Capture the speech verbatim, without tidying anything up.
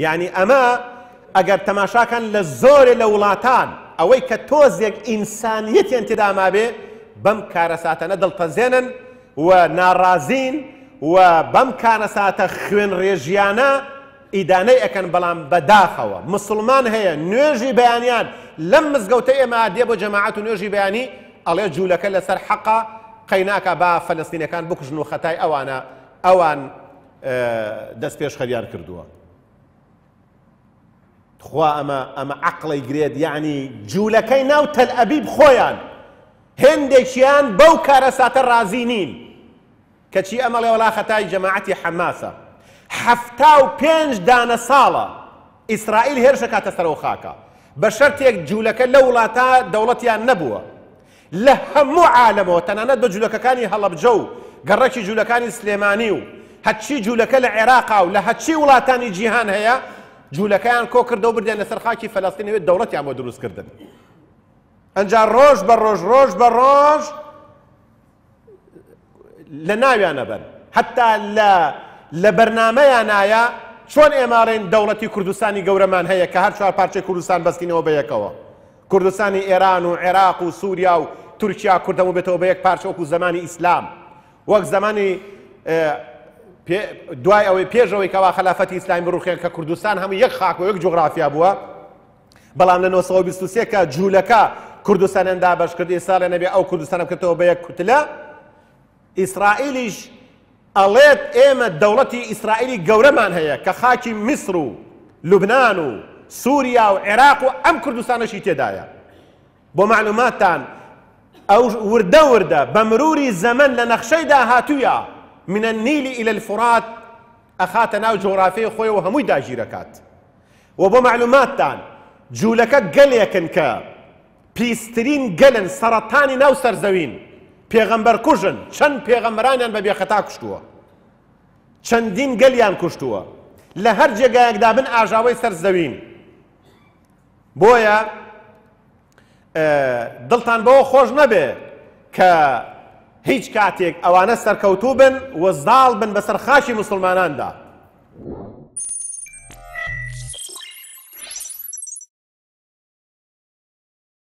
یعنی ئەمە ئەگەر تەماشاکان لە زۆرێ لە وڵاتان ئەوەی کە تۆزێک ئینسانیەتیان تێدا مابێ بەم کارەساتانە دڵتەزێنن و ناڕازین و بەم کارەساتە خوێنڕێژیانە ئیدانەی ئەکەن. بەڵام بەداخەوە مسلمان هەیە نوێژی بەیانیان لەم مزگەوتە ئێمە دێ بۆ جەماعەت و نوێژی بەیانی ئەڵێ جوولەکە لەسەر حەقە قەیناکە با فەلەستینەکان بکوژن و خەتای ئەوانە ئەوان دەست پێشخەریان کردووە. خوا ئەمە ئەمە عەقڵی گرێت. یعنی جوولەکەی ناو تەل ئەبیب خۆیان هێندێکیان بەو کارەساتە ڕازی نین، کەچی ئەمەڵێ وەڵا خەتای جەماعەتی حەماسە. حەفتا و پێنج دانە ساڵە ئیسرائیل هێرش ئەکاتە سەرەوە خاکە بە شەرتێک جوولەکە لەو وڵاتە دەوڵەتیان نەبووە. لە هەموو عالەمەوە تەنانەت بە جوولەکەکانی هەڵەبجە و گەڕەکی جوولەکانی سلێمانی و هەرچی جوولەکە لە عێراقا و لە هەرچی وڵاتانی جیهان هەیە جوولەکەیان کۆ کردەوە بردیان لەسەر خاکی فەلەستینەوە دەوڵەتیان بۆ دروستکردن. ئەنجا ڕۆژ بە ڕۆژ ڕۆژ بە ڕۆژ لە ناویانە بن. حتا لە لە بەرنامەیانایە چۆن ئێماڕێن دەوڵەتی کوردستانی گەورەمان هەیە کە هەر چوار پارچەی کوردستان بەستینەوە بە یەکەوە، کوردستانی ئێران و عێراق و سووریا و تورکیا کوردەمو بێتەوە بە یەک پارچە وەکو زەمانی ئیسلام، وەک زەمانی دوای ئەوەی پێشەوەی کەوا خەلافەتی ئیسلامی بڕوخێن کە کوردستان هەموو یەک خاک و یەک جوغرافیا بووە. بەڵام لە نۆسەد و بیست و سێ کە جوولەکە کوردستانیان دابەش کرد، ئێستا لێ نەبێ ئەو کوردستانە بکردەوە بە یەک کوتلە. ئیسرائیلیش ئەڵێت ئێمە دەوڵەتی ئیسرائیلی گەورەمان هەیە کە خاکی میسر و لوبناان و سووریا و عێراق و ئەم کوردستانەشی تێدایە. بۆ معلوماتتان ئەو وردە وردە بە مروری زەمەن لە نەخشەی داهاتوویە من النیل إلى الفرات ئەخاتە ناو جوغرافیای خۆی و هەمووی داگیرەکات. و بۆ معلوماتتان جوولەکە گەلێکن کە پیسترین گەلن، سەرەتانی ناو سەرزەوین، پێغەمبەر کوژن، چەند پێغەمبەرانیان بە بێخەتا کوشتووە، چەندین گەلیان کوشتووە، لە هەر جێگایەکدا بن ئاژاوەی سەرزەوین. بۆیە دڵتان بەوە خۆش نەبێ کە هیچ کاتێک ئەوانە سەرکەوتوو بن و زاڵ بن بەسەر خاکی مسلماناندا.